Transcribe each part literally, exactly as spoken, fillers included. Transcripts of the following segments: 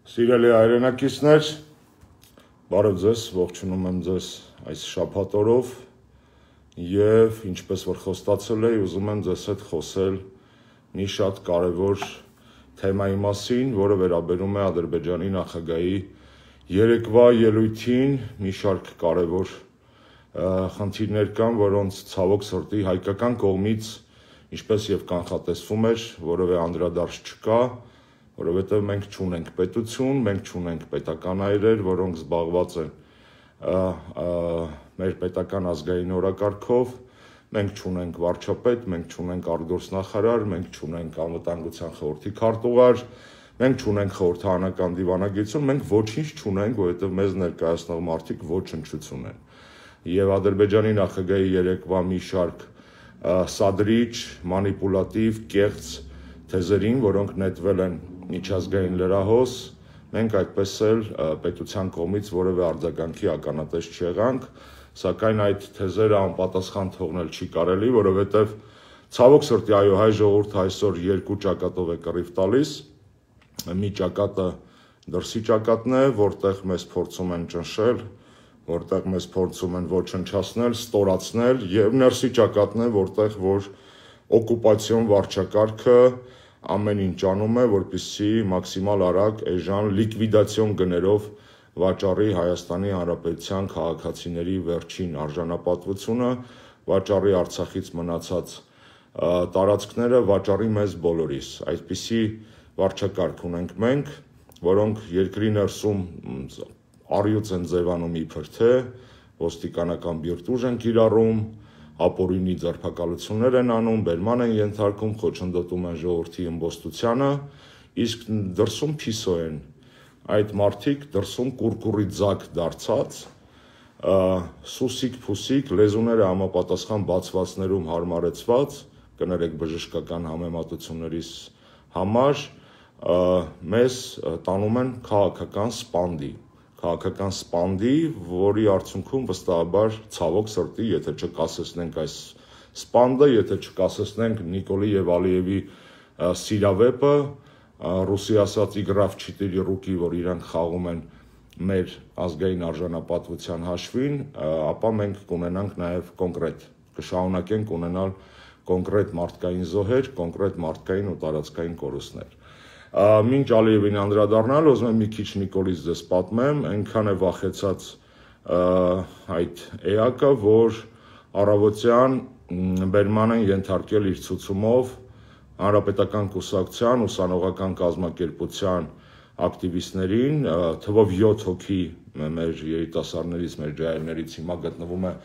Սիրելի հայրենակիցներ, բարև ձեզ, ողջունում եմ ձեզ այս շաբաթ օրով եւ ինչպես որ խոստացել էի, ուզում եմ ձեզ հետ խոսել մի շատ կարևոր թեմայի մասին, որը վերաբերում է Ադրբեջանի նախագահի երեկվա ելույթին, մի շարք կարևոր խնդիրներ կան, որոնց ցավոք սրտի հայկական կողմից, ինչպես եւ կանխատեսվում էր, որևէ անդրադարձ չկա, որովհետև մենք չունենք պետություն, մենք չունենք պետական այրեր, որոնք զբաղված են մեր պետական ազգային օրակարգով, մենք չունենք վարչապետ, մենք չունենք արտգործնախարար, մենք չունենք անվտանգության խորհրդի քարտուղար, մենք չունենք խորհրդարանական դիվանագիտություն, մենք ոչինչ չունենք, որովհետև մեզ ներկայացնող մարդիկ ոչնչություն են։ Եվ Ադրբեջանի նախագահի երեկվա մի շարք սադրիչ, մանիպուլատիվ, կեղծ թեզերին, որոնք նետվել են միջազգային լրահոս, մենք այդպես էլ պետության կողմից որևէ արձագանքի ականատես չեղանք, սակայն այդ թեզերը անպատասխան թողնել չի կարելի, որովհետև ցավոք սրտի այո, հայ ժողովուրդը այսօր երկու ճակատով է կռիվ տալիս, մի ճակատը դրսի ճակատն է, որտեղ մեզ փորձում են ճնշել, որտեղ մեզ փորձում են ոչնչացնել, ստորացնել, եւ ներսի ճակատն է, որտեղ որ օկուպացիոն վարչակարգը ամեն ինչ անում է, որպեսզի մաքսիմալ արագ էժան լիկվիդացիոն գներով վաճառի Հայաստանի Հանրապետության քաղաքացիների վերջին արժանապատվությունը, վաճառի Արցախից մնացած տարածքները, վաճառի մեզ բոլորիս։ Այսպիսի վարչակարգ ունենք մենք, որոնք երկրի ներսում առյուծ են ձևանում իբր թե, ոստիկանական բիրտուժ են կիրառում, ապօրինի ձերբակալություններ են անում, բերման են ենթարկում, խոչընդոտում են ժողովրդի ըմբոստությանը, իսկ դրսում փիսո են այդ մարդիկ, դրսում կուրկուրի ձակ դարձած, սուսիկ-փուսիկ, լեզուները համապատասխան բացվածներում հարմարեցված, կներեք բժշկական համեմատություններիս համար, մեզ տանում են քաղաքական սպանդի, քաղաքական սպանդի, որի արդյունքում վստահաբար ցավոք սրտի, եթե չկասեցնենք այս սպանդը, եթե չկասեցնենք Նիկոլի եւ Ալիևի սիրավեպը, ռուսի ասած իգրավ չիտերի ռուկի, որ իրանք խաղում են մեր ազգային արժանապատվության հաշվին, ապա մենք կունենանք նաեւ կոնկրետ, կշարունակենք ունենալ կոնկրետ մարդկային զոհեր, կոնկրետ մարդկային ու տարածքային կորուստներ։ Մինչ Ալիևին անդրադառնալ, ուզում եմ մի քիչ Նիկոլից ձեզ պատմեմ, այնքան է վախեցած այդ էակը, որ առավոտյան բերման են ենթարկել իր ցուցումով Հանրապետական կուսակցության, ուսանողական կազմակերպության ակտիվիստներին, թվով յոթ հոգի մեր երիտասարդներից, մեր ջահելներից հիմա գտնվում է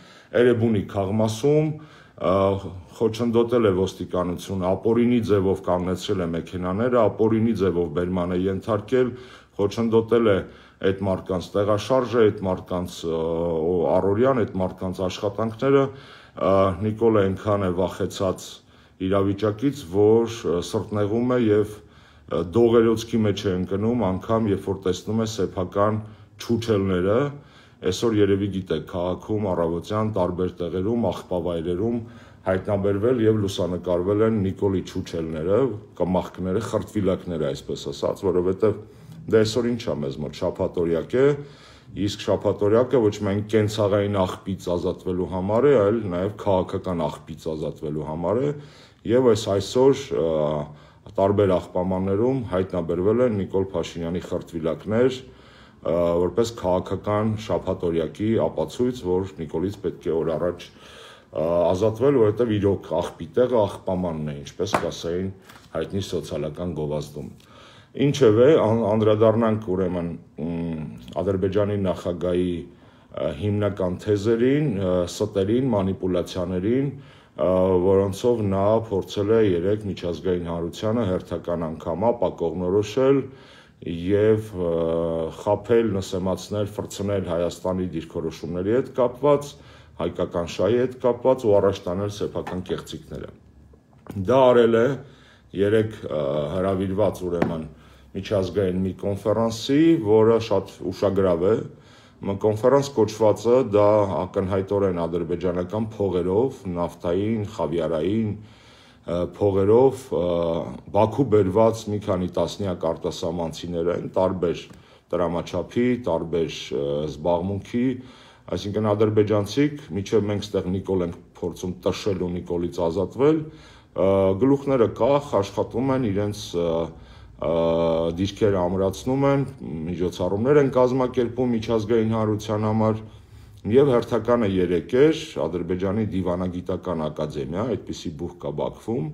Էրեբունի քաղմասում, խոչընդոտել է ոստիկանությունը, ապօրինի ձևով կանգնեցրել է մեքենաները, ապօրինի ձևով բերման է ենթարկել, խոչընդոտել է այդ մարդկանց տեղաշարժը, այդ մարդկանց առօրյան, այդ մարդկանց աշխատանքները, Նիկոլը այնքան է վախեցած իրավիճակից, որ սրտնեղում է եւ դողերոցքի մեջ է ընկնում, անգամ երբ որ տեսնում է սեփական չուչելները, այսօր երևի գիտեք, քաղաքում առավոտյան տարբեր տեղերում, աղբավայրերում հայտնաբերվել եւ լուսանկարվել են Նիկոլի չուչելները, կմախքները, խրտվիլակները, այսպես ասած, որովհետեւ դա այսօր ինչ է մեզ մոտ շաբաթօրյակ է, իսկ շաբաթօրյակը ոչ միայն կենցաղային աղբից ազատվելու համար է, այլ նաեւ քաղաքական աղբից ազատվելու համար է, եւ այս այսօր տարբեր աղբամաններում հայտնաբերվել են Նիկոլ Փաշինյանի խրտվիլակներ, որպես քաղաքական շաբաթօրյակի ապացույց, որ Նիկոլից պետք է օր առաջ ազատվել, որովհետև իրոք աղբի տեղը աղբամանն է, ինչպես կասեին հայտնի սոցիալական գովազդում։ Ինչևէ, անդրադառնանք ուրեմն Ադրբեջանի նախագահի հիմնական թեզերին, ստերին, մանիպուլյացիաներին, որոնցով նա փորձել է երեք միջազգային հանրությանը հերթական անգամ ապակողնորոշել եւ խաբել, նսեմացնել, ֆրցնել Հայաստանի դիրքորոշումների հետ կապված, հայկական շահի հետ կապված ու առաջ տանել սեփական կեղծիքները։ Դա արել է երեք հրավիրված ուրեմն միջազգային մի կոնֆերանսի, որը շատ ուշագրավ է, կոնֆերանս կոչվածը դա ակնհայտորեն ադրբեջանական փողերով, նավթային, խավիարային, փողերով Բաքու բերված մի քանի տասնյակ արտասահմանցիներ են, տարբեր տրամաչափի, տարբեր զբաղմունքի, այսինքն ադրբեջանցիք, մինչև մենք ստեղ Նիկոլ ենք փորձում տշել ու Նիկոլից ազատվել, գլուխները կախ աշխատում են, իրենց դիրքերը ամրացնում են, միջոցառումներ են կազմակերպում միջազգային հանրության համար, եւ հերթականը երեք էր Ադրբեջանի դիվանագիտական ակադեմիա, այդպիսի բուհ կա Բաքվում,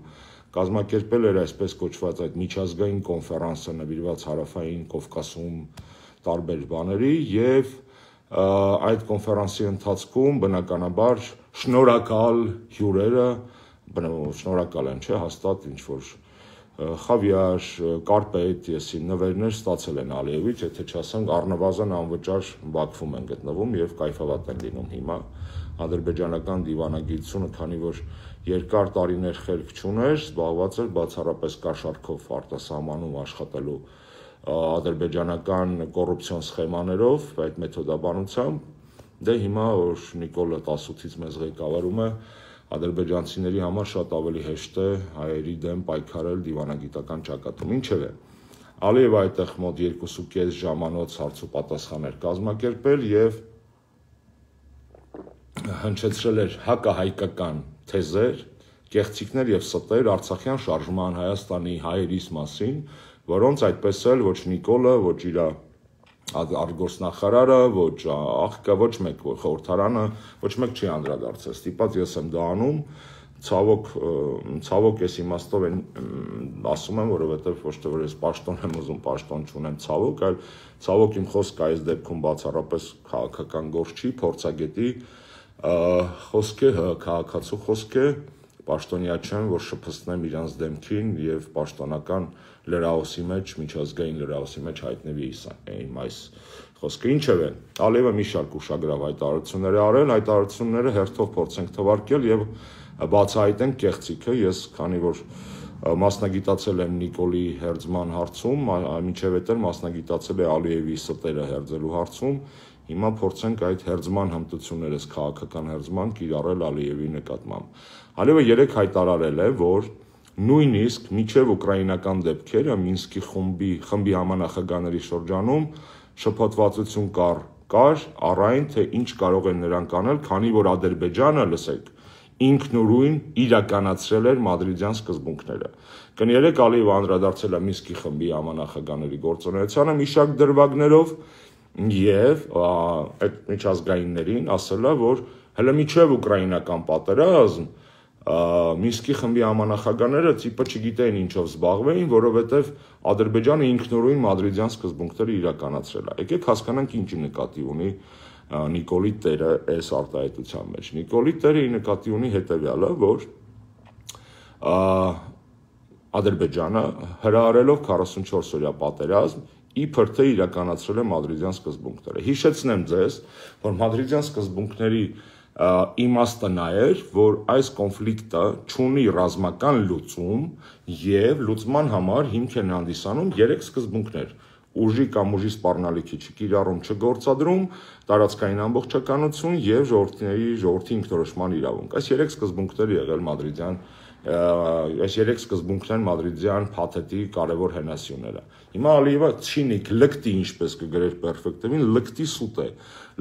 կազմակերպել էր այսպես կոչված այդ միջազգային կոնֆերանսը նվիրված Հարավային Կովկասում տարբեր բաների եւ այդ կոնֆերանսի ընթացքում բնականաբար շնորհակալ հյուրերը, շնորհակալ են, չէ, հաստատ ինչ որ խավիար, կարպետ, եսի նվերներ ստացել են Ալիևից, եթե չասեմ առնվազն անվճար Բաքվում են գտնվում եւ կայֆավատ են լինում հիմա։ Ադրբեջանական դիվանագիտությունը, քանի որ երկար տարիներ խելք չուներ, զբաղված էր բացառապես կաշառքով արտասահմանում աշխատելու ադրբեջանական կոռուպցիոն սխեմաներով, այդ մեթոդաբանությամբ, դե հիմա որ Նիկոլը տասութից մեզ ղեկավարում է, ադրբեջանցիների համար շատ ավելի հեշտ է հայերի դեմ պայքարել դիվանագիտական ճակատում, ինչևէ, Ալիևը այդտեղ մոտ երկու կես ժամանոց հարց ու պատասխան էր կազմակերպել եւ հնչեցրել էր հակահայկական թեզեր, կեղծիքներ եւ ստեր Արցախյան շարժման Հայաստանի հայերիս մասին, որոնց այդպես էլ ոչ Նիկոլը, ոչ իր արտգործնախարարը, ոչ աղկա, ոչ մեկ խորհրդարանը, ոչ մեկ չի անդրադարձել, ստիպած ես եմ դա անում, ցավոք, ցավոք ես իմաստով են ասում եմ, որովհետև ոչ թե որ ես պաշտոն եմ ուզում, պաշտոն չունեմ ցավոք, այլ ցավոք իմ խոսքը այս դեպքում բացառապես քաղաքական գործ չի, փորձագետի խոսք է, քաղաքացու խոսք է, պաշտոնյա չեմ, որ շփստնեմ իրանց դեմքին եւ պաշտոնական լրահոսի մեջ, միջազգային լրահոսի մեջ հայտնվի իմ այս խոսքը, ինչևէ, Ալիևը մի շարք ուշագրավ հայտարարություններ է արել, հայտարարությունները հերթով փորձենք թվարկել եւ բացահայտենք կեղծիքը, ես քանի որ մասնագիտացել եմ Նիկոլի հերձման հարցում, մինչև էտեր մասնագիտացել է Ալիևի ստերը հերձելու հարցում, հիմա փորձենք այդ հերձման հմտություններս քաղաքական հերձման կիրառել Ալիևի նկատմամբ։ Ալիևը երեք հայտարարել է, որ նույնիսկ միջև ուկրաինական դեպքերը Մինսկի խմբի խմբի համանախագահների շրջանում շփոթվածություն կար, կար առայն թե ինչ կարող են նրանք անել, քանի որ Ադրբեջանը, լսեք, ինքնուրույն իրականացրել էր մադրիդյան սկզբունքները։ Կներեք Ալիևը անդրադարձել է Մինսկի խմբի համանախագահների գործունեությանը մի շարք դրվագներով եւ այդ միջազգայիններին ասել է, որ հələ միջև ուկրաինական պատերազմ Մինսկի խմբի համանախագահները տիպը չգիտեին ինչով զբաղվեին, որովհետև Ադրբեջանը ինքնուրույն մադրիդյան սկզբունքները իրականացրել է։ Եկեք հասկանանք ինչի նկատի ունի Նիկոլի տերը այս արտահայտության մեջ։ Նիկոլի տերը նկատի ունի հետևյալը, որ Ադրբեջանը հրահարելով քառասունչորս օրյա պատերազմ իբր թե իրականացրել է մադրիդյան սկզբունքները։ Հիշեցնեմ ձեզ, որ մադրիդյան սկզբունքների իմաստը նա էր, որ այս կոնֆլիկտը չունի ռազմական լուծում եւ լուծման համար հիմք են հանդիսանում երեք սկզբունքներ՝ ուժի կամ ուժի սպառնալիքի չկիրառում, չգործադրում, տարածքային ամբողջականություն եւ ժողովրդների ժողովրդի ինքնորոշման իրավունք։ Այս երեք սկզբունքները եղել մադրիդյան այս երեք սկզբունքներն մադրիդյան փաթեթի կարևոր հենասյուները։ Հիմա Ալիևը ցինիկ, լկտի, ինչպես կգրեր պերֆեկտվին, լկտի սուտ է։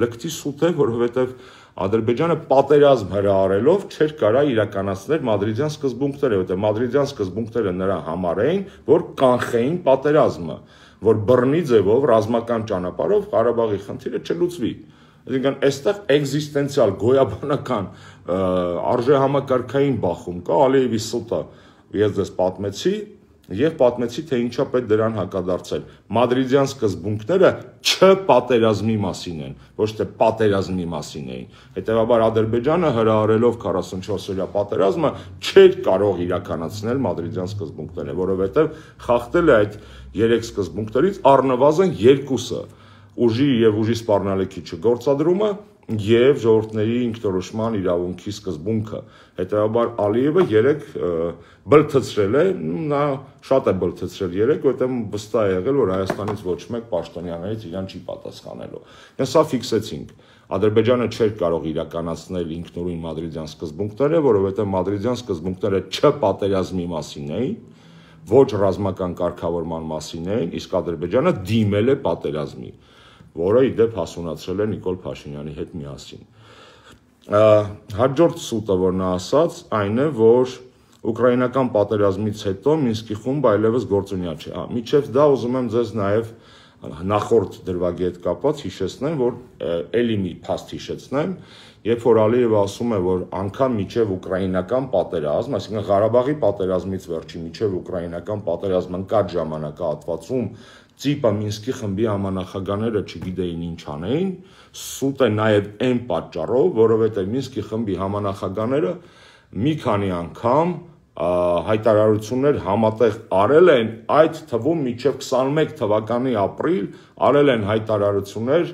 Լկտի սուտ է, որովհետեւ Ադրբեջանը պատերազմ հրահարելով չէր կարա իրականացնել մադրիդյան սկզբունքները, որտեղ մադրիդյան սկզբունքները նրա համար էին, որ կանխեին պատերազմը, որ բռնի ձևով ռազմական ճանապարհով Ղարաբաղի խնդիրը չլուծվի։ Այսինքն այստեղ էգզիստենցիալ գոյաբանական արժեհամակարգային բախում կա, Ալիևի սուտը ես ձեզ պատմեցի եւ պատմեցի թե ինչա պետք դրան հակադարձել։ Մադրիդյան սկզբունքները չպատերազմի մասին են, ոչ թե պատերազմի մասին էին։ Հետևաբար Ադրբեջանը հրահարելով քառասունչորս օրյա պատերազմը չէր կարող իրականացնել մադրիդյան սկզբունքները, որովհետեւ խախտել է այդ երեք սկզբունքներից առնվազն երկուսը՝ ուժի եւ ուժի սպառնալիքի չգործադրումը եւ ժողովրդների ինքնորոշման իրավունքի սկզբունքը։ Հետևաբար Ալիևը երեք բլթցրել է, նա շատ է բլթցրել երեք, որտեղ վստահ է եղել, որ Հայաստանից ոչ մեկ պաշտոնյաներից իրան չի պատասխանելու։ Դա սա ֆիքսեցինք։ Ադրբեջանը չէր կարող իրականացնել ինքնուրույն մադրիդյան սկզբունքները, որովհետև մադրիդյան սկզբունքները չպատերազմի մասին էին, ոչ ռազմական կարգավորման մասին էին, իսկ Ադրբեջանը դիմել է պատերազմի, որը ի դեպ հասունացրել է Նիկոլ Փաշինյանի հետ միասին։ Հաջորդ սուտը, որ նա ասաց, այն է, որ ուկրաինական պատերազմից հետո Մինսկի խումբը այլևս գործունյա չէ։ Մինչև դա ուզում եմ ձեզ նաև նախորդ դրվագի հետ կապված հիշեցնեմ, որ էլի մի փաստ հիշեցնեմ, երբ որ Ալիևը ասում է, որ անգամ մինչև ուկրաինական պատերազմ, այսինքն Ղարաբաղի պատերազմից վերջի մինչև ուկրաինական պատերազմ ընկած ժամանակահատվածում ծիպը Մինսկի խմբի համանախագահները չգիտեին ինչ անեին, սուտ է նաև այն պատճառով, որովհետև Մինսկի խմբի համանախագահները մի քանի անգամ հայտարարություններ համատեղ արել են, այդ թվում մինչև քսանմեկ թվականի ապրիլ արել են հայտարարություններ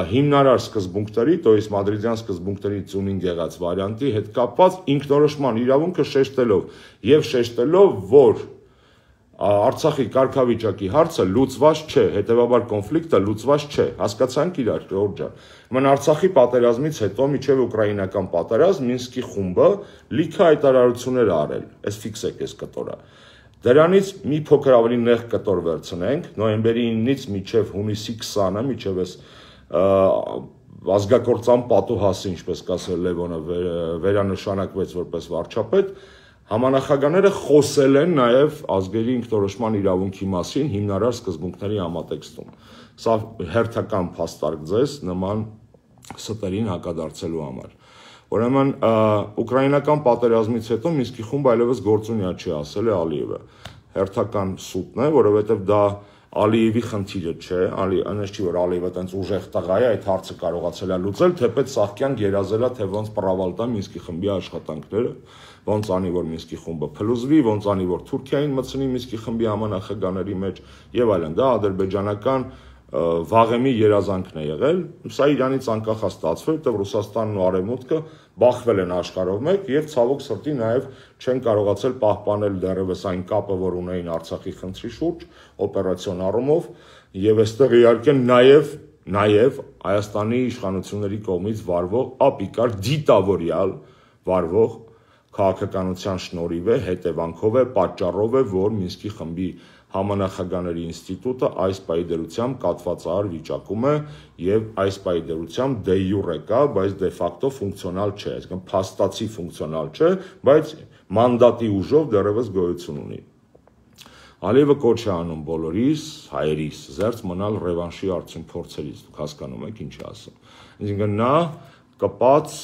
հիմնարար սկզբունքների, то есть մադրիդյան սկզբունքների ծունինգ եղած վարիանտի հետ կապված ինքնորոշման իրավունքը շեշտելով եւ շեշտելով, որ Արցախի կարգավիճակի հարցը լուծված չէ, հետեւաբար կոնֆլիկտը լուծված չէ, հասկացանք իրար, Ժորժ ջան։ Ման Արցախի պատերազմից հետո միջև ուկրաինական պատերազմ Մինսկի խումբը լիքը հայտարարություններ արել, այս ֆիքսեք այս կտորը։ Դրանից մի փոքր ավելի նեղ կտոր վերցնենք, նոյեմբերի իննից միջև հունիսի քսանը, միջև այս ազգակործան պատուհասը, ինչպես կասել Լևոնը, վերանշանակվեց որպես վարչապետ, Համանախագահները խոսել են նաև ազգերի ինքնորոշման իրավունքի մասին հիմնարար սկզբունքների համատեքստում։ Սա հերթական փաստարկ ձեզ նման ստերին հակադարձելու համար։ Ուրեմն ուկրաինական պատերազմից հետո Մինսկի խումբը այլևս գործունյա չի, ասել է Ալիևը։ Հերթական սուտն է, որովհետև դա Ալիևի խնդիրը չէ, այնպես չի, որ Ալիևը տենց ուժեղ տղա է, այդ հարցը կարողացել է լուծել, թեպետ Սահակյան գերազել է, թե ոնց պրավալ տա Մինսկի խմբի աշխատանքները, ոնց անի, որ Մինսկի խումբը փլուզվի, ոնց անի, որ Թուրքիային մտցնի Մինսկի խմբի համանախագահների մեջ եւ այլն, դա ադրբեջանական վաղեմի երազանքն է եղել, սա իրանից անկախ է ստացվել, որտեղ Ռուսաստանն ու Արևմուտքը բախվել են աշխարհով մեկ եւ ցավոք սրտի նաեւ չեն կարողացել պահպանել դեռևս այն կապը, որ ունեին Արցախի խնդրի շուրջ, օպերացիոն առումով, եւ այստեղ իհարկե նաեւ նաեւ Հայաստանի իշխանությունների կողմից վարվող ապիկար դիտավորյալ վարվող քաղաքականության շնորհիվ է, հետևանքով է, պատճառով է, որ Մինսկի խմբի համանախագահների ինստիտուտը այս պայդերությամբ կատվածահար վիճակում է եւ այս պայդերությամբ դե յուրե կա, բայց դե ֆակտո ֆունկցիոնալ չէ, այսինքն փաստացի ֆունկցիոնալ չէ, բայց մանդատի ուժով դեռևս գոյություն ունի։ Ալիևը կոչ է անում բոլորիս, հայերիս, զերծ մնալ ռևանշի արդյուն փորձերից, դուք հասկանում եք ինչ է ասում։ Այսինքն նա կպած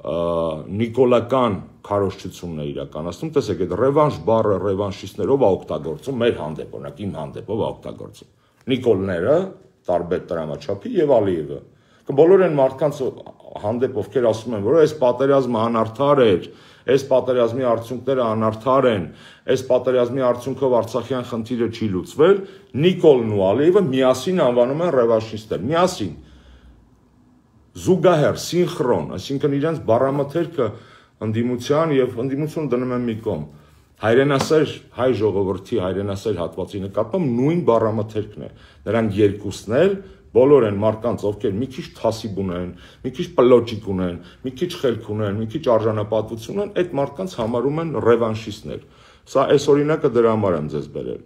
նիկոլական քարոզչությունն է իրականացնում, տեսեք այդ ռևանշ բառը ռևանշիստներով է օգտագործում մեր հանդեպ, օրինակ իմ հանդեպով է օգտագործում։ Նիկոլները, տարբեր տրամաչափի եւ Ալիևը։ Բոլոր այն մարդկանց հանդեպ ովքեր ասում են, որ այս պատերազմը անարդար էր, այս պատերազմի արդյունքները անարդար են, այս պատերազմի արդյունքով Արցախյան խնդիրը չի լուծվել, Նիկոլն ու Ալիևը միասին անվանում են ռևանշիստներ, միասին զուգահեռ, սինխրոն, այսինքն իրենց բառամթերքը ընդդիմության եւ ընդդիմությունը դնում են մի կողմ։ Հայրենասեր հայ ժողովրդի հայրենասեր հատվածի նկատմամբ նույն բառամթերքն է։ Նրանք երկուսն էլ բոլոր են մարդկանց, ովքեր մի քիչ թասիբ ունեն, մի քիչ պլոճիկ ունեն, մի քիչ խելք ունեն, մի քիչ արժանապատվություն ունեն, այդ մարդկանց համարում են ռևանշիստներ։ Սա այս օրինակը դրա համար եմ ձեզ բերել։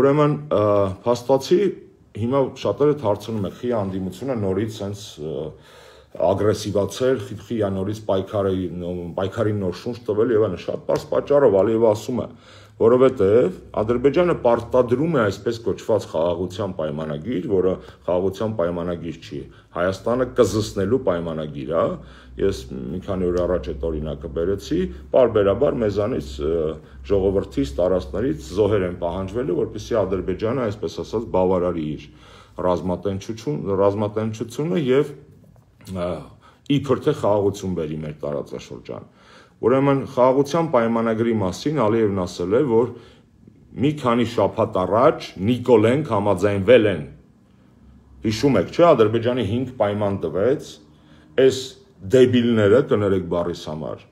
Ուրեմն փաստացի հիմա շատերը հարցնում են, խի անդիմությունը նորից sense ագրեսիվացել, խի նորից պայքարի պայքարի նոր շունչ տվել եւ այլն, շատ բարձ պատճառով Ալիևը ասում է, որովհետեւ Ադրբեջանը պարտադրում է այսպես կոչված խաղաղության պայմանագիր, որը խաղաղության պայմանագիր չի, Հայաստանը կզսնելու պայմանագիր է, ես մի քանի օր առաջ այդ օրինակը բերեցի, պարբերաբար մեզանից ժողովրդից, տարածքներից զոհեր են պահանջվելու, որպեսզի Ադրբեջանը, այսպես ասած, բավարարի իր ռազմատենչություն, ռազմատենչությունը եւ իբր թե խաղաղություն բերի մեր տարածաշրջան։ Ուրեմն խաղաղության պայմանագրի մասին Ալիևն ասել է, որ մի քանի շաբաթ առաջ Նիկոլենք համաձայնվել են։ Հիշում եք, չէ՞, Ադրբեջանի հինգ պայման տվեց, այս դեբիլները, կներեք բառիս համար,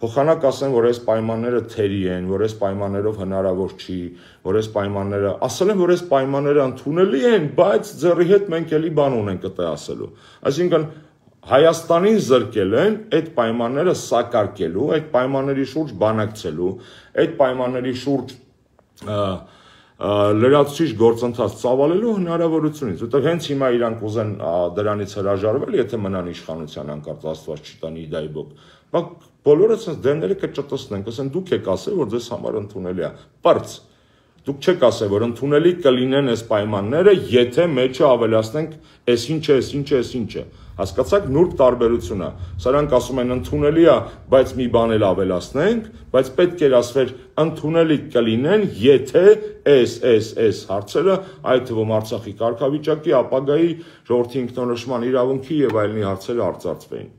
փոխանակ ասեն, որ այս պայմանները թերի են, որ այս պայմաններով հնարավոր չի, որ այս պայմանները, ասել են, որ այս պայմանները ընդունելի են, բայց ձեռի հետ մենք էլի բան ունենք այդտեղ ասելու։ Այսինքն Հայաստանին զրկել են այդ պայմանները սակարկելու, այդ պայմանների շուրջ բանակցելու, այդ պայմանների շուրջ լրացուցիչ գործընթաց ծավալելու հնարավորությունից, որտեղ հենց հիմա իրանք ուզեն դրանից հրաժարվել, եթե մնան իշխանության անկարծ Աստված չտանի դայբոք, բայց բոլորը ցած դեմները կճտցնեն, ասեն դուք եք ասել, որ ձեզ համար ընդունելի է, բարձ դուք չեք ասել, որ ընդունելի կլինեն այս պայմանները, եթե մեջը ավելացնենք այս ինչը, այս ինչը, այս ինչը, հասկացաք նուրբ տարբերությունը, սրանք ասում են ընդունելի է, բայց մի բան էլ ավելացնենք, բայց պետք էր ասվել ընդունելի կլինեն, եթե այս, այս, այս հարցերը, այդ թվում Արցախի կարգավիճակի, ապագայի, ժողովրդի ինքնորոշման իրավունքի եւ այլնի հարցերը արծարծվեին։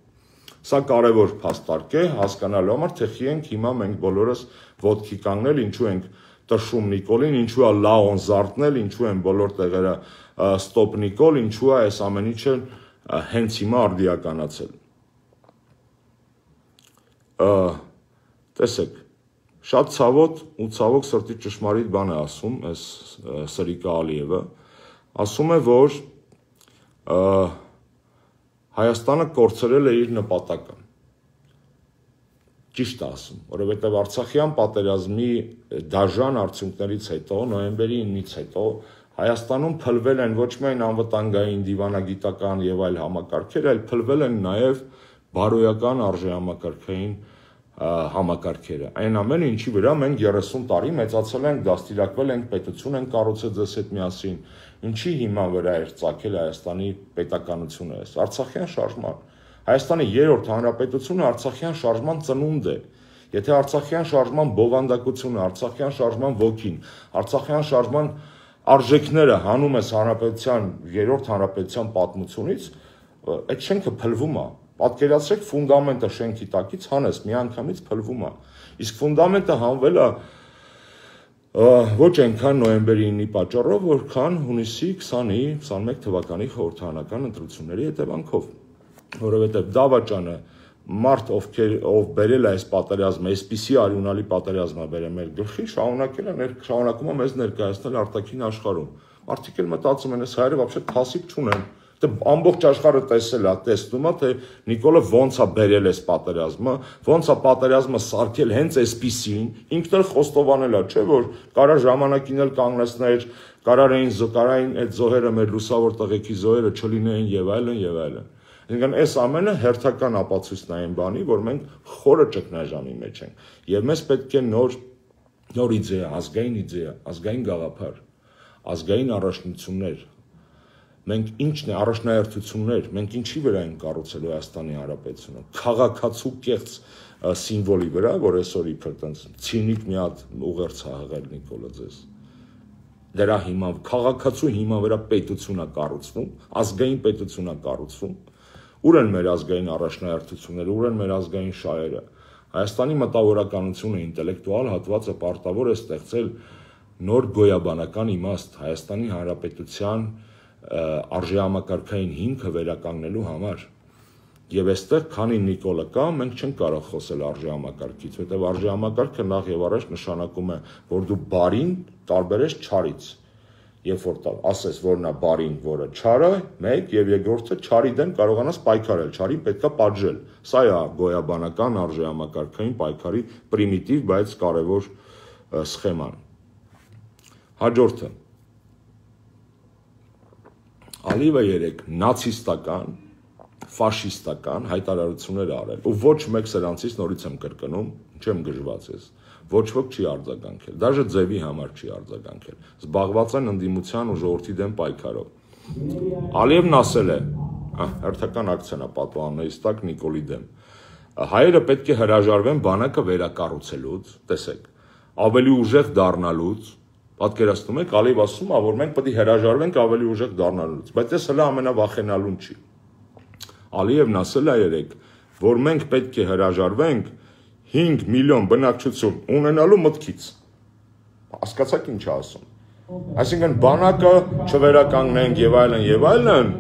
Սա կարևոր փաստարկ է հասկանալու համար, թե խի ենք հիմա մենք բոլորս ոտքի կանգնել, ինչու ենք տշում Նիկոլին, ինչու է լաոն զարթնել, ինչու են բոլոր տեղերը ստոպ Նիկոլ, ինչու է այս ամեն ինչը հենց հիմա արդիականացել։ Տեսեք, շատ ցավոտ ու ցավոք սրտի ճշմարիտ բան է ասում այս Սրիկա Ալիևը, ասում է, որ Հայաստանը կորցրել է իր նպատակը։ Ճիշտ է ասում, որովհետև Արցախյան պատերազմի դաժան արդյունքներից հետո, նոյեմբերի իննից հետո Հայաստանում փլվել են ոչ միայն անվտանգային, դիվանագիտական եւ այլ համակարգեր, այլ փլվել են նաեւ բարոյական արժեհամակարգային համակարգերը։ Այն ամենը, ինչի վրա մենք երեսուն տարի մեծացել ենք, դաստիարակվել ենք, պետություն ենք կառուցել ձեզ հետ միասին, ինչի հիման վրա էր ծագել Հայաստանի պետականությունը, Արցախյան շարժման։ Հայաստանի երրորդ հանրապետությունը Արցախյան շարժման ծնունդ է։ Եթե Արցախյան շարժման բովանդակությունը, Արցախյան շարժման ոգին, Արցախյան շարժման արժեքները հանում ես հանրապետության երրորդ հանրապետության պատմությունից, այդ շենքը փլվում է։ Պատկերացրեք ֆունդամենտը շենքի տակից հանես, միանգամից փլվում է։ Իսկ ֆունդամենտը հանվել է ոչ այնքան նոյեմբերի իննի պատճառով, որքան հունիսի քսանի քսանմեկ թվականի խորհրդարանական ընտրությունների հետևանքով, որովհետև դավաճանը մարդ ովքեր ով բերել է այս պատերազմը, այսպիսի արյունալի պատերազմ է բերել մեր գլխի, շարունակել է շարունակում է մեզ ներկայացնել արտաքին աշխարհում։ Մարդիկ էլ մտածում են, այս հայերը вообще թասիբ չունեն։ Ամբողջ աշխարհը տեսել է, տեսնում է, թե Նիկոլը ոնց է բերել այս պատերազմը, ոնց է պատերազմը սարքել հենց այսպիսին, ինքն էլ խոստովանել է, չէ՞ որ կարա ժամանակին էլ կանգնեցներ, կարար էին զոհային այդ զոհերը մեր լուսավոր տղեկի զոհերը չլինեին եւ այլն եւ այլն։ Այսինքն այս ամենը հերթական ապացույցն է այն բանի, որ մենք խորը ճգնաժամի մեջ ենք եւ մեզ պետք է նոր նոր իդեա, ազգային իդեա, ազգային գաղափար, ազգային առաջնություններ։ Մենք ինչն է առաջնահերթություններ, մենք ինչի վրա ենք կառուցելու Հայաստանի Հանրապետությունը, քաղաքացու կեղծ սիմվոլի վրա, որ այսօր իբր տենց ցինիկ մի հատ ուղերձ է հղել Նիկոլը ձեզ։ Դրա հիման քաղաքացու հիման վրա պետություն է կառուցվում, ազգային պետություն է կառուցվում։ Ուր են մեր ազգային առաջնահերթությունները, ուր են մեր ազգային շահերը։ Հայաստանի մտավորականությունը, ինտելեկտուալ հատվածը պարտավոր է ստեղծել նոր գոյաբանական իմաստ Հայաստանի Հանրապետության արժեհամակարգային հիմքը վերականգնելու համար։ Եվ այստեղ, քանի Նիկոլը կա, մենք չենք կարող խոսել արժեհամակարգից, որտեղ արժեհամակարգը նախ եւ առաջ նշանակում է, որ դու բարին տարբերես չարից։ Երբ որ ասես, որ նա բարին, որը չարը, մեկ եւ երկրորդը չարի դեմ կարողանաս պայքարել, չարին պետքա պատժել։ Սա է գոյաբանական արժեհամակարգային պայքարի պրիմիտիվ, բայց կարևոր սխեման։ Հաջորդը Ալիևը երեք նացիստական, ֆաշիստական հայտարարություններ արել, ու ոչ մեկ սրանցից նորից եմ կրկնում, չեմ գժված ես, ոչ ոք չի արձագանքել, դաժե ձևի համար չի արձագանքել, զբաղված են ընդդիմության ու ժողովրդի դեմ պայքարով։ Ալիևն ասել է, հերթական ակցիան է պատուհաններից տակ Նիկոլի դեմ, հայերը պետք է հրաժարվեն բանակը վերակառուցելուց, տեսեք, ավելի ուժեղ դառնալուց, պատկերացնում եք, Ալիև ասում է, որ մենք պետք է հրաժարվենք ավելի ուժեղ դառնալուց, բայց այս հələ ամենավախենալուն չի։ Ալիևն ասել է երեք, որ մենք պետք է հրաժարվենք հինգ միլիոն բնակչություն ունենալու մտքից։ Հասկացաք ինչ է ասում։ Այսինքն բանակը չվերականգնենք եւ այլն եւ այլն,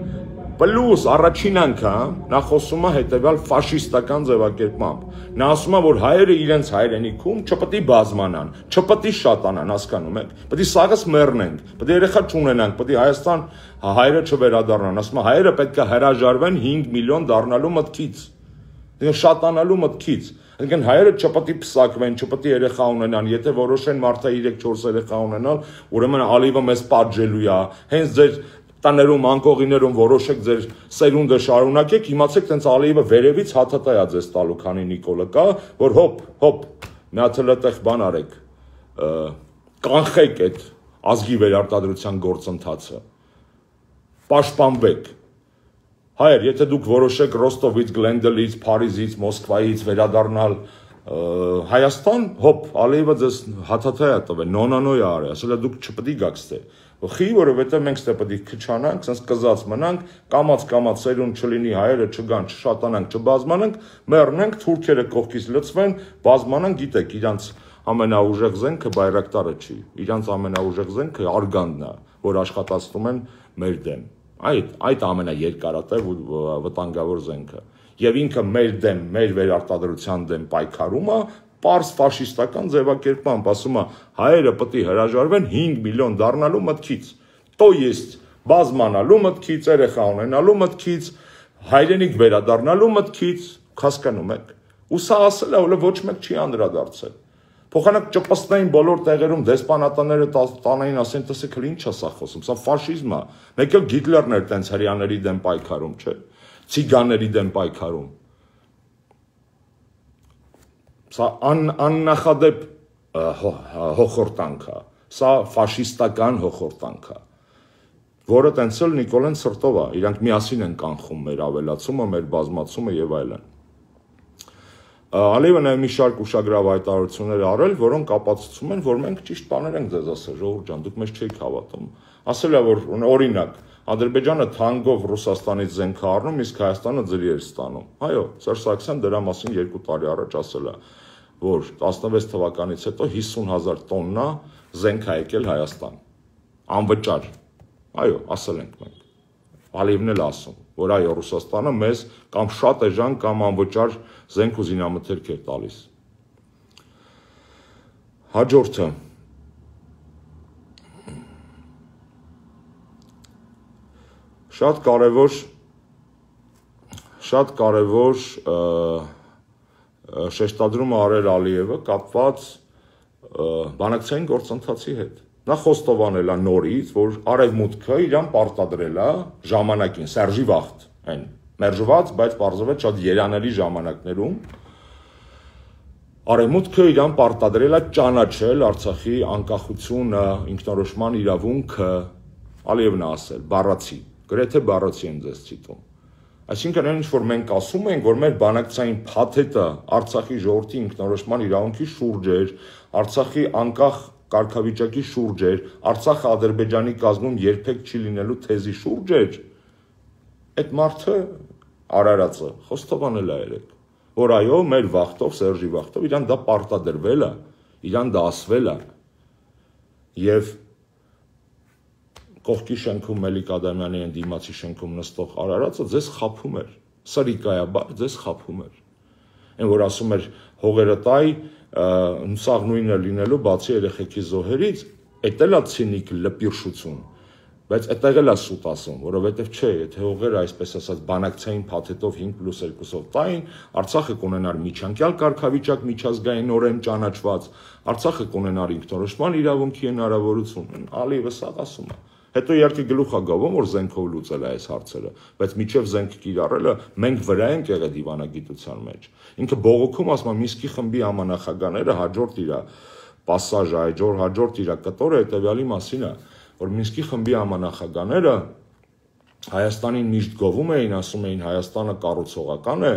Պլյուս առաջին անգամ նա խոսում է հետևյալ ֆաշիստական ձևակերպմամբ։ Նա ասում է, որ հայերը իրենց հայրենիքում չպետք է բազմանան, չպետք է շատանան, հասկանում եք։ Պետք է սաղս մեռնենք, պետք է երեխա չունենանք, պետք է Հայաստան հայերը չվերադառնան։ Ասում է հայերը պետք է հրաժարվեն հինգ միլիոն դառնալու մտքից։ Շատանալու մտքից։ Այսինքն հայերը չպետք է փսակվեն, չպետք է երեխա ունենան, եթե որոշեն մարդը երեք չորս երեխա ունենալ, ուրեմն Ալիևը մեզ պատժելու է։ Հենց ձեր տաներում, անկողիներում որոշեք ձեր սերունդը շարունակեք, իմացեք տենց Ալիևը վերևից հաթաթայ է ձեզ տալու, քանի Նիկոլը կա, որ հոպ, հոպ, մի հատ հլտեղ բան արեք, կանխեք այդ ազգի վերարտադրության գործընթացը, պաշտպանվեք։ Հայեր, եթե դուք որոշեք Ռոստովից, Գլենդելից, Փարիզից, Մոսկվայից վերադառնալ Հայաստան, հոպ, Ալիևը ձեզ հաթաթայ է տվել, նոնանոյ է արել, ասել է դուք չպետք է գաք ստե։ Խի, որովհետև մենք ստե պետք է քչանանք, sense կզած մնանք, կամած-կամած սերունդ չլինի, հայերը չգան, չշատանանք, չբազմանանք, մեռնենք, թուրքերը կողքից լցվեն, բազմանանք, գիտեք, իրանց ամենաուժեղ զենքը բայրակտարը չի, իրանց ամենաուժեղ զենքը արգանդն է, որ աշխատացնում են մեր դեմ։ Այդ այդ ամենաերկարատև ու վտանգավոր զենքը։ Եվ ինքը մեր դեմ, մեր վերարտադրության դեմ պայքարում է, պարզ ֆաշիստական ձևակերպմամբ, ասում է, հայերը պետք է հրաժարվեն հինգ միլիոն դառնալու մտքից, то есть բազմանալու մտքից, երեխա ունենալու մտքից, հայրենիք վերադառնալու մտքից, հասկանում եք։ Ու սա ասել է, որ ոչ մեկ չի անդրադարձել։ Փոխանակ ճպստային բոլոր տեղերում դեսպանատները տանային, ասեն, տեսեք, ինչ է սա խոսում, սա ֆաշիզմ է։ Մեկ էլ Հիտլերն էր տենց հрьяաների դեմ պայքարում, չէ՞։ Ցիգանների դեմ պայքարում։ Սա աննախադեպ հոխորտանք է, սա ֆաշիստական հոխորտանք է, որը տենց էլ Նիկոլեն սրտով է, իրանք միասին են կանխում մեր ավելացումը, մեր բազմացումը եւ այլն։ Ալիևը նաև մի շարք ուշագրավ հայտարարություններ արել, որոնք ապացուցում են, որ մենք ճիշտ բաներ ենք ձեզ ասել, ժողովուրդ ջան, դուք մեզ չեք հավատում։ Ասել է, որ օրինակ Ադրբեջանը թանկով Ռուսաստանից զենք է առնում, իսկ Հայաստանը ձրի էր ստանում։ Այո, Սերժ Սարգսյանը դրա մասին երկու տարի առաջ ասել է, որ տասնվեց թվականից հետո հիսուն հազար տոննա զենք է եկել Հայաստան։ Անվճար։ Այո, ասել ենք մենք։ Ալիևն էլ ասում, որ այո, Ռուսաստանը մեզ կամ շատ էժան կամ անվճար զենք ու զինամթերք էր տալիս։ Հաջորդը Շատ կարևոր շատ կարևոր շեշտադրում արել Ալիևը կապված բանակցային գործընթացի հետ։ Նա խոստովանել է նորից, որ արևմուտքը իրան պարտադրել է ժամանակին, Սերժի վաղտ, այն մերժված, բայց պարզվեց շատ երանելի ժամանակներում արևմուտքը իրան պարտադրել է ճանաչել Արցախի անկախությունը, ինքնորոշման իրավունքը, Ալիևն է ասել, բառացի, գրեթե բառացի եմ ձեզ ցիտում։ Այսինքն այն ինչ որ մենք ասում ենք, որ մեր բանակցային փաթեթը Արցախի ժողովրդի ինքնորոշման իրավունքի շուրջ էր, Արցախի անկախ կարգավիճակի շուրջ էր, Արցախը Ադրբեջանի կազմում երբեք չի լինելու թեզի շուրջ էր, այդ մարդը Արարածը խոստովանել է երեք, որ այո, մեր վախտով, Սերժի վախտով իրան դա պարտադրվել է, իրան դա ասվել է, եւ կողքի շենքում Մելիք Ադամյանի են դիմացի շենքում նստող Արարածը ձեզ խափում էր, սրիկայաբար ձեզ խափում էր, այն որ ասում էր հողերը տայ, սաղ նույնը լինելու բացի երեխեքի զոհերից, էդ էլ է ցինիկ լպիրշություն, բայց այդտեղ էլ է սուտ ասում, որովհետև չէ, եթե հողերը այսպես ասած բանակցային փաթեթով հինգ պլյուս երկուսով տային, Արցախը կունենար միջանկյալ կարգավիճակ միջազգայինորեն ճանաչված, Արցախը կունենար ինքնորոշման իրավունքի հնարավորություն, Ալիևը սա ասում է։ Հետո իհարկե գլուխ է գավում, որ զենքով լուծել է այս հարցերը, բայց միջև զենք կիրառելը մենք վրա ենք եղել դիվանագիտության մեջ։ Ինքը բողոքում ասում է Մինսկի խմբի համանախագահները հաջորդ իր պասաժը, այջոր հաջորդ իր կտորը հետևյալի մասին է, որ Մինսկի խմբի համանախագահները Հայաստանին միշտ գովում էին, ասում էին Հայաստանը կառուցողական է,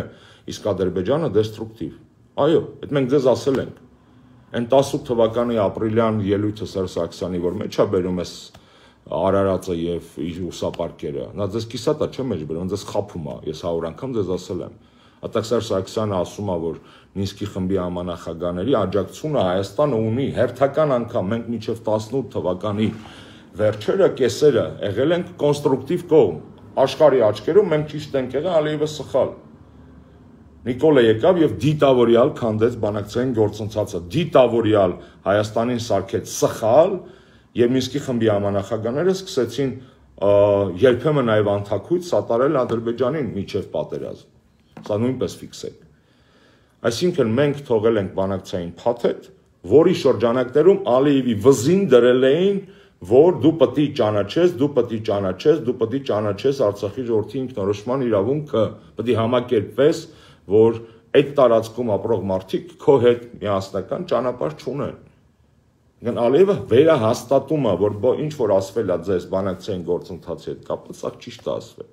իսկ Ադրբեջանը դեստրուկտիվ։ Այո, այդ մենք ձեզ ասել ենք։ Այն տասնութ թվականի ապրիլյան ելույթը Սերժ Սարգսյանի, որ մեջ է բերում էս Արարածը եւ իր ուսապարկերը, նա ձեզ կիսատա չէ մեջ բերում, ձեզ խափում է, ես հարյուր անգամ ձեզ ասել եմ։ Ատակ Սերժ Սարգսյանը ասում է, որ Մինսկի խմբի համանախագահների աջակցությունը Հայաստանը ունի հերթական անգամ, մենք մինչև տասնութ թվականի վերջերը կեսերը եղել ենք կոնստրուկտիվ կողմ, աշխարհի աչքերում մենք ճիշտ ենք եղել, Ալիևը սխալ։ Նիկոլը եկավ եւ դիտավորյալ քանդեց բանակցային գործընթացը, դիտավորյալ Հայաստանին սարքեց սխալ եւ Մինսկի խմբի համանախագահները սկսեցին երբեմն նաեւ անթակույց սատարել Ադրբեջանին միջև պատերազմ։ Սա նույնպես ֆիքսեք։ Այսինքն մենք թողել ենք բանակցային փաթեթ, որի շրջանակներում Ալիևի վզին դրել էին, որ դու պետք է ճանաչես, դու պետք է ճանաչես, դու պետք է ճանաչես Արցախի ժողովրդի ինքնորոշման իրավունքը, պետք է համակերպվես, որ այդ տարածքում ապրող մարդիկ քո հետ միասնական ճանապարհ չունեն։ Գն Ալիևը վերահաստատում է, որ ինչ որ ասվել է ձեզ բանակցային գործընթացի հետ կապված, սա ճիշտ է ասվել։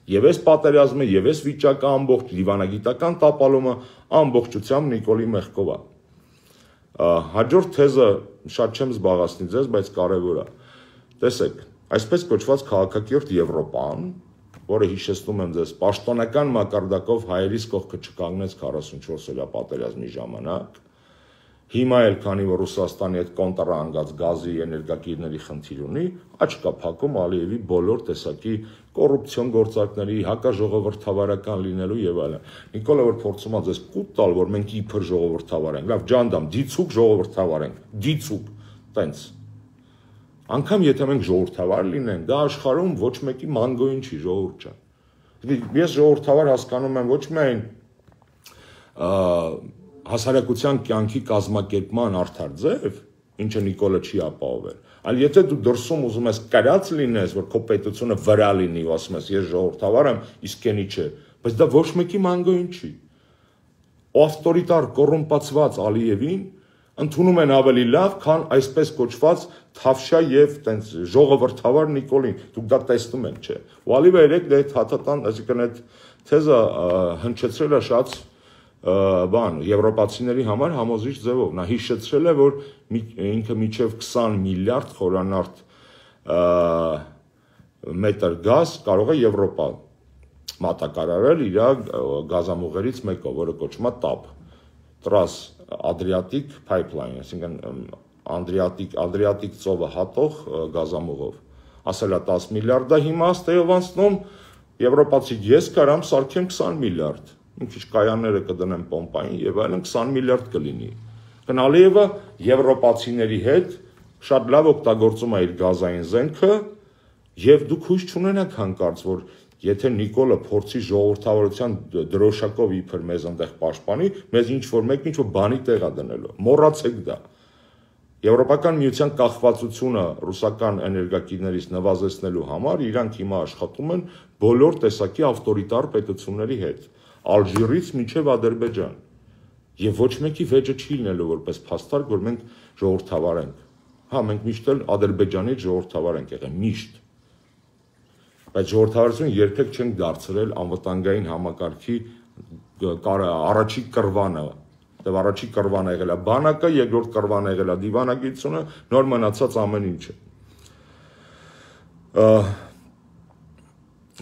Եվ այս պատերազմը, եւ այս վիճակը ամբողջ դիվանագիտական տապալումը ամբողջությամբ Նիկոլի մեղքով է։ Հաջորդ թեզը շատ չեմ զբաղացնի ձեզ, բայց կարևոր է։ Տեսեք, այսպես կոչված քաղաքակիրթ Եվրոպան, որը հիշեցնում եմ ձեզ, պաշտոնական մակարդակով հայերիս կողքը չկանգնեց քառասունչորս օրյա պատերազմի ժամանակ, հիմա էլ քանի որ Ռուսաստանի հետ կոնտրա անգած գազի էներգակիրների խնդիր ունի, աչք կա փակում Ալիևի բոլոր տեսակի կոռուպցիոն գործարքների, հակաժողովրդավարական լինելու եւ այլն։ Նիկոլը որ փորձում է ձեզ կուտ տալ, որ մենք իբր ժողովրդավար ենք, լավ ջանդամ, դիցուկ ժողովրդավար ենք, դիցուկ, տենց։ Անկամ եթե մենք ժողովրդավար լինենք, դա աշխարհում ոչ մեկի մանգոյին չի, ժողովուրդ ջան։ Ես ժողովրդավար հասկանում եմ ոչ միայն հասարակության կյանքի կազմակերպման արդար ձև, ինչը Նիկոլը չի ապահովել, այլ եթե դու դրսում ուզում ես կրած լինես, որ քո պետությունը վրա լինի, ու ասում ես ես ժողովրդավար եմ, իսկ էնի չէ, բայց դա ոչ մեկի մանգոյին չի։ Ավտորիտար կոռումպացված Ալիևին ընդունում են ավելի լավ, քան այսպես կոչված թավշյա եւ տենց ժողովրդավար Նիկոլին։ Դուք դա տեսնում եք, չէ։ Ու Ալիևը երեք դա հաթաթան, այսինքն այդ թեզը հնչեցրել է շատ բան եվրոպացիների համար համոզիչ ձևով։ Նա հիշեցրել է, որ ինքը միջև քսան միլիարդ խորանարդ մետր գազ կարող է Եվրոպա մատակարարել իր գազամուղերից մեկով, որը կոչվում է տապ, Տրանս Adriatic pipeline, այսինքն Adriatic Adriatic ծովը հատող գազամուղով։ Ասել է տասը միլիարդ, դա հիմա ստեյով անցնում եվրոպացի ես կարամ սարքեմ քսան միլիարդ։ Մի քիչ կայանները կդնեմ պոմպային եւ այլն քսան միլիարդ կլինի։ Ալիևը եվրոպացիների հետ շատ լավ օգտագործում է իր գազային զենքը եւ դուք հույս չունենաք հանկարծ, որ եթե Նիկոլը փորձի ժողովրդավարության դրոշակով իբր մեզ այնտեղ պաշտպանի, մեզ ինչ որ մեկ ինչ որ բանի տեղա դնելու։ Մոռացեք դա։ Եվրոպական միության կախվածությունը ռուսական էներգակիրներից նվազեցնելու համար իրանք հիմա աշխատում են բոլոր տեսակի ավտորիտար պետությունների հետ, Ալժիրից մինչև Ադրբեջան։ Եվ ոչ մեկի վեճը չի լինելու որպես փաստարկ, որ մենք ժողովրդավար ենք։ Հա, մենք միշտ էլ Ադրբեջանից ժողովրդավար ենք եղել, միշտ։ Բայց ժողովրդավարությունը երբեք չենք դարձրել անվտանգային համակարգի առաջի կռվանը։ Դե առաջի կռվանը եղել է բանակը, երկրորդ կռվանը եղել է դիվանագիտությունը, նոր մնացած ամեն ինչը։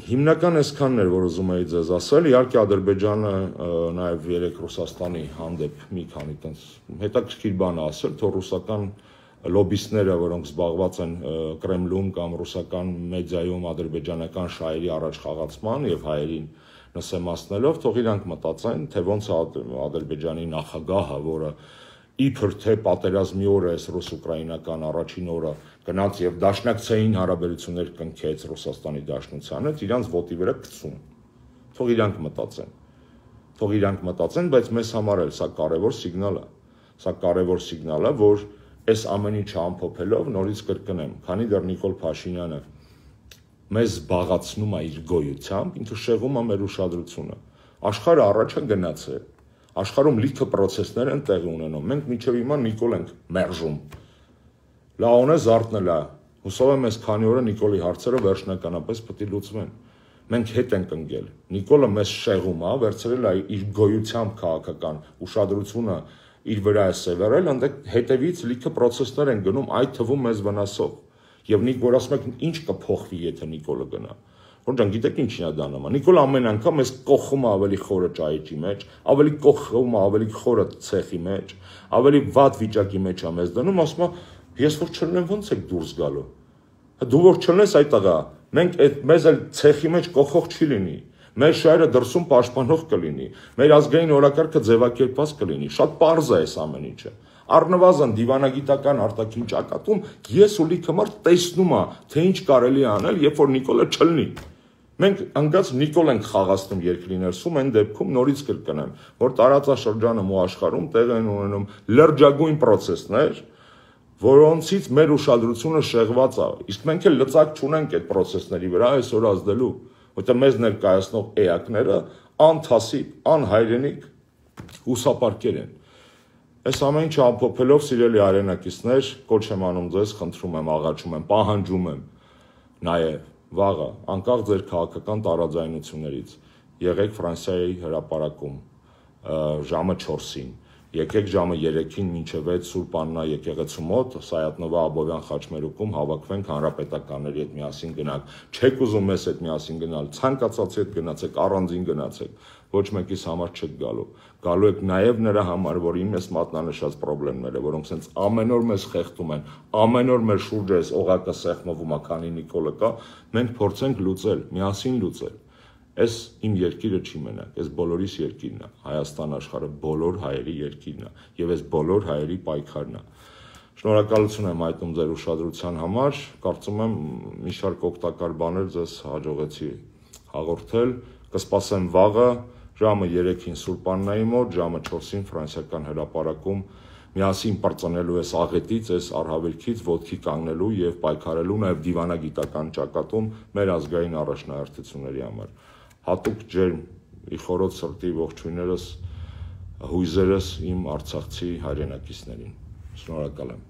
Հիմնական այսքանն էր, որ ուզում էի ձեզ ասել, իհարկե Ադրբեջանը նաև երեք Ռուսաստանի հանդեպ մի քանի տենց հետաքրքիր բան ասել, թող ռուսական լոբիստները, որոնք զբաղված են Կրեմլում կամ ռուսական մեդիայում ադրբեջանական շահերի առաջխաղացման եւ հայերին նսեմացնելով, թող իրանք մտածեն, թե ոնց է Ադրբեջանի նախագահը, որը իբր թե պատերազմի օրը այս ռուս-ուկրաինական առաջին օրը գնաց եւ դաշնակցային հարաբերություններ կնքեց Ռուսաստանի Դաշնության հետ, իրանց ոտի վրա գցում։ Թող իրանք մտածեն։ Թող իրանք մտածեն, բայց մեզ համար էլ սա կարևոր սիգնալ է։ Սա կարևոր սիգնալ է, որ այս ամեն ինչը ամփոփելով նորից կրկնեմ, քանի դեռ Նիկոլ Փաշինյանը մեզ զբաղացնում է իր գոյությամբ, ինքը շեղում է մեր ուշադրությունը։ Աշխարհը առաջ է գնացել։ Աշխարհում լիքը process-ներ են տեղի ունենում։ Մենք մինչև հիմա Նիկոլ ենք մերժում։ Լաոնը զարթնել է։ Հուսով եմ այս քանի օրը Նիկոլի հարցերը վերջնականապես պետք է լուծվեն։ Մենք հետ ենք ընկել։ Նիկոլը մեզ շեղում է, վերցրել է իր գոյությամբ քաղաքական ուշադրությունը իր վրա է սևեռել, այնտեղ հետևից լիքը process-ներ են գնում, այդ թվում մեզ վնասող։ Եվ Նիկոլ ասում եք, ինչ կփոխվի, եթե Նիկոլը գնա։ Որ ջան, գիտեք ինչին է դա նման։ Նիկոլ ամեն անգամ էս կողում է ավելի խորը ճայիճի մեջ, ավելի կողում է ավելի խորը ցեխի մեջ, ավելի վատ վիճակի մեջ է մեզ դնում, ասում է, ես որ չլնեմ ո՞նց եք դուրս գալու։ Դու որ չլնես այդ տղա, Մենք այդ մեզ էլ ցեխի մեջ կողող չի լինի։ Մեր շահերը դրսում պաշտպանող կլինի։ Մեր ազգային օրակարգը ձևակերպված կլինի։ Շատ պարզ է այս ամեն ինչը։ Առնվազն դիվանագիտական արտաքին ճակատում ես ու լիքը մարդ տեսնում է, թե ինչ կարելի է անել, երբ որ Նիկոլը չլնի։ Մենք անգած Նիկոլ ենք խաղացնում երկրի ներսում, այն դեպքում նորից կրկնեմ, որ տարածաշրջանում ու աշխարհում տեղ են ունենում լրջագույն process-ներ, որոնցից մեր ուշադրությունը շեղված է։ Իսկ մենք էլ լծակ չունենք այդ process-ների վրա այսօր ազդելու, որտեղ մեզ ներկայացնող էակները անթասիբ, անհայրենիք հուսապարկեր են։ Այս ամեն ինչը ամփոփելով, սիրելի հայրենակիցներ, կոչ եմ անում ձեզ, խնդրում եմ, աղաչում եմ, պահանջում եմ նաև վաղը, անկախ ձեր քաղաքական տարաձայնություններից, եղեք Ֆրանսիայի հրապարակում ժամը չորսին, եկեք ժամը երեքին մինչև վեց Սուրբ Աննա եկեղեցու մոտ, Սայաթ-Նովա Աբովյան խաչմերուկում հավաքվենք հանրապետականների հետ միասին գնանք։ Չեք ուզում մեզ հետ միասին գնալ, ցանկացածի հետ գնացեք, առանձին գնացեք, ոչ մեկիս համար չեք գալու։ Գալու եք նաև նրա համար, որ իմ ես մատնանշած խնդիրները, որոնք սենց ամեն օր մեզ խեղդում են, ամեն օր մեր շուրջը այս օղակը սեղմվում է, քանի Նիկոլը կա, մենք փորձենք լուծել, միասին լուծել։ Այս իմ երկիրը չի մենակ, այս բոլորիս երկիրն է, Հայաստան աշխարհը բոլոր հայերի երկիրն է, եւ այս բոլոր հայերի պայքարն է։ Շնորհակալություն եմ այտում ձեր ուշադրության համար, կարծում եմ մի շարք օգտակար բաներ ձեզ հաջողեցի հաղորդել, կսպասեմ վաղը ժամը երեքին Սուրբ Աննայի մոտ, ժամը չորսին ֆրանսիական հրապարակում միասին պրծնելու այս աղետից, այս առհավելքից ոտքի կանգնելու եւ պայքարելու նաեւ դիվանագիտական ճակատում մեր ազգային առաջնահերթությունների համար։ Հատուկ ջերմ իխորոտ սրտի ողջույններս, հույզերս իմ արցախցի հայրենակիցներին։ Շնորհակալ եմ։